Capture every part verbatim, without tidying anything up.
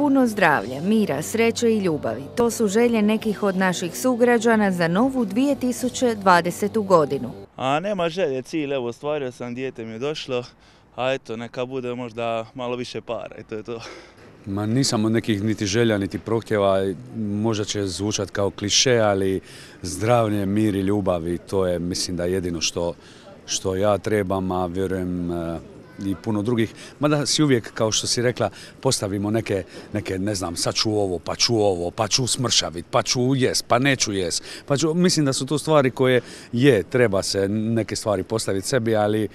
Puno zdravlja, mira, sreće i ljubavi. To su želje nekih od naših sugrađana za novu dvije tisuće dvadesetu godinu. A nema želje, cilj, evo, ostvario sam, dijete mi je došlo, a eto, neka bude možda malo više para i to je to. Ma nisam od nekih niti želja, niti prohtjeva, možda će zvučat kao kliše, ali zdravlje, mir i ljubav i to je, mislim, da jedino što, što ja trebam, a vjerujem i puno drugih. Mada si uvijek, kao što si rekla, postavimo neke, neke ne znam, sad ću ovo, pa ću ovo, pa ću smršavit, pa ću jes, pa neću jes. Pa ću, mislim da su to stvari koje je, treba se neke stvari postaviti sebi, ali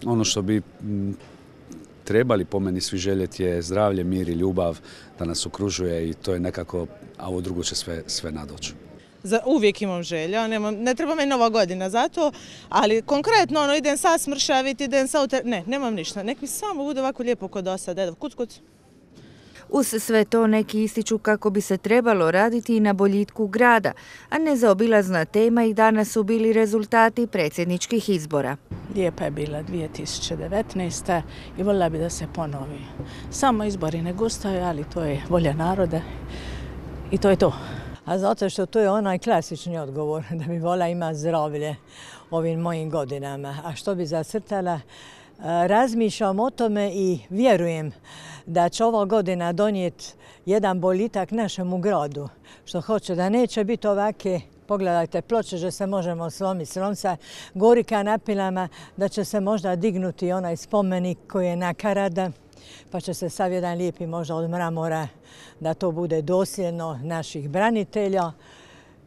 ono što bi trebali po meni svi željeti je zdravlje, mir i ljubav da nas okružuje i to je nekako, a ovo drugo će sve, sve nadoći. Za uvijek imam želja, nemam, ne treba mi nova godina za to, ali konkretno ono, idem sad smršaviti, idem sad, ne, nemam ništa, nek mi samo bude ovako lijepo kod dosad, evo, kuc, kuc. Uz sve to neki ističu kako bi se trebalo raditi i na boljitku grada, a nezaobilazna tema i danas su bili rezultati predsjedničkih izbora. Lijepa je bila dvije tisuće devetnaesta. i voljela bi da se ponovi. Samo izbori ne gustaju, ali to je volja naroda i to je to. A zato što to je onaj klasični odgovor, da bi vola ima zdravlje ovim mojim godinama. A što bi zacrtala? Razmišljam o tome i vjerujem da će ova godina donijeti jedan boljitak našemu gradu. Što hoće da neće biti ovake, pogledajte ploče, že se možemo slomiti s ronca, gori kanapilama, da će se možda dignuti onaj spomenik koji je nakarada, pa će se sav jedan lijepi možda od mramora, da to bude dosljedno naših branitelja.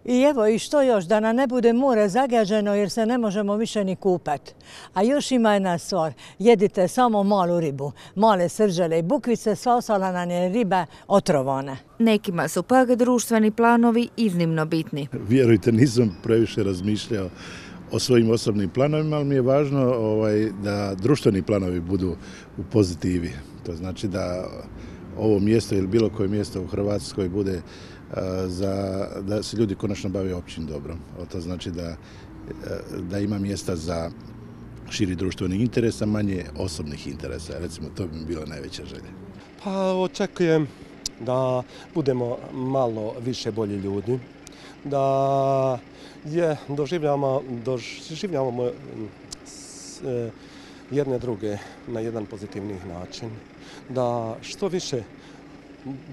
I evo, i što još, da nam ne bude more zagađeno jer se ne možemo više ni kupati. A još ima jedna stvar, jedite samo malu ribu, male srđele i bukvice, sva ostala nam je riba otrovana. Nekima su pak društveni planovi iznimno bitni. Vjerujte, nisam previše razmišljao o svojim osobnim planovima, ali mi je važno ovaj, da društveni planovi budu u pozitivi. To znači da ovo mjesto ili bilo koje mjesto u Hrvatskoj bude za, da se ljudi konačno bave općim dobrom. To znači da, da ima mjesta za širi društveni interes, a manje osobnih interesa. Recimo, to bi mi bila najveća želja. Pa očekujem da budemo malo više bolji ljudi, da je doživljavamo, doživljavamo jedne druge na jedan pozitivni način, da što više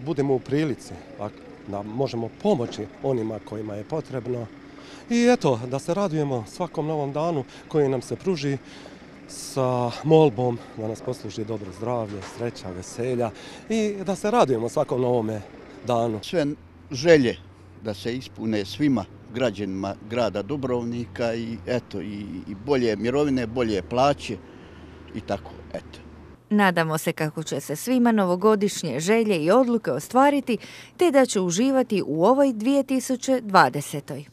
budemo u prilici, da možemo pomoći onima kojima je potrebno i eto, da se radujemo svakom novom danu koji nam se pruži sa molbom da nas posluži dobro zdravlje, sreća, veselja i da se radujemo svakom novome danu. Sve želje da se ispune svima građanima grada Dubrovnika i eto, i, i bolje mirovine, bolje plaće i tako, eto. Nadamo se kako će se svima novogodišnje želje i odluke ostvariti, te da će uživati u ovoj dvije tisuće dvadesetoj.